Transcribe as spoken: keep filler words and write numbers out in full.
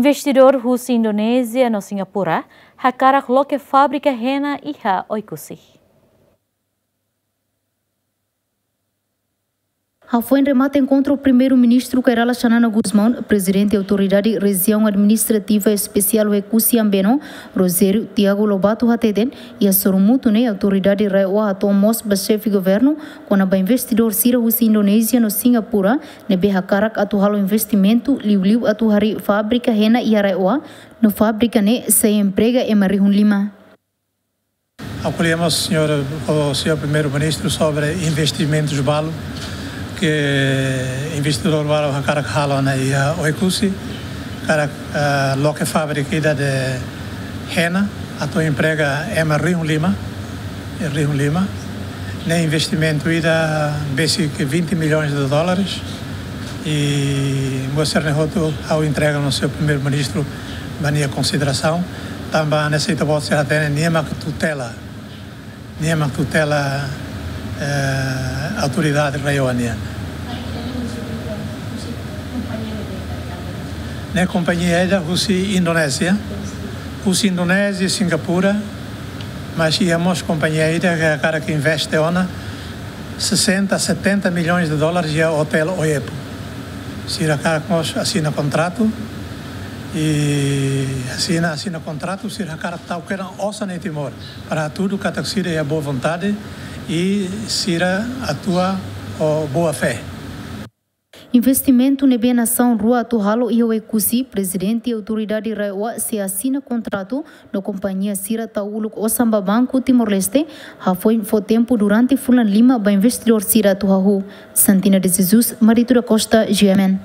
Investidór husi Indonézia no Singapura hakarak loke fábrika hena iha Oekusi. Hafoin remata enkontru, Primeiru-Ministru Kay Rala Xanana Gusmão, Prezidente Autoridade Rejiaun Administrativa Espesiál Oekusi Ambeno, Rogério Tiago Lobato hateten, iha sorumutu ne'e autoridade RAEOA hato'o mós ba xefe governu kona-ba investidór sira husi Indonézia no Singapura ne'ebé hakarak atu halo investimentu liuliu atu harii fábrika hena iha RAEOA, no fábrika ne'e sei emprega ema rihun lima. Acolhemos, senhor, o senhor Primeiro-Ministro sobre investimentos balu ke investidór balu hakarak halo ona iha Oekusi, hakarak, ah, loke fábrika ida de hena, atu emprega ema rihun lima, rihun lima. Ne'e investimentu ida besik vinte milhões de dólares. I buat sira-ne'e hotu ha'u entrega no senhor Primeiro-Ministro ba nia konsiderasaun. Tanba ne'e sei ita-boot sira hatene nia mak tutela, nia mak tutela, eh, autoridade RAEOA nian. Ne'e kompañia ida husi Indonézia, husi Indonézia, Singapura, mas iha mós kompañia ida ke hakarak investe ona sessenta, setenta milhões de dólares iha Hotel Oepo. Sira hakarak mós asina kontratu, i asina, asina kontratu, sira hakarak tau kedan osan iha Timor, para hatudu katak sira iha boa vontade i sira atua ho boa fé. Investimentu ne'ebé nasaun rua atu halo iha Oekusi, Prezidente Autoridade RAEOA sei asina kontratu no kompañia sira tau uluk osan ba Banku Timor-Leste, hafoin fó tempu durante fulan lima ba investidór sira atu hahú. Santina de Jesus, Marito da Costa, G M N.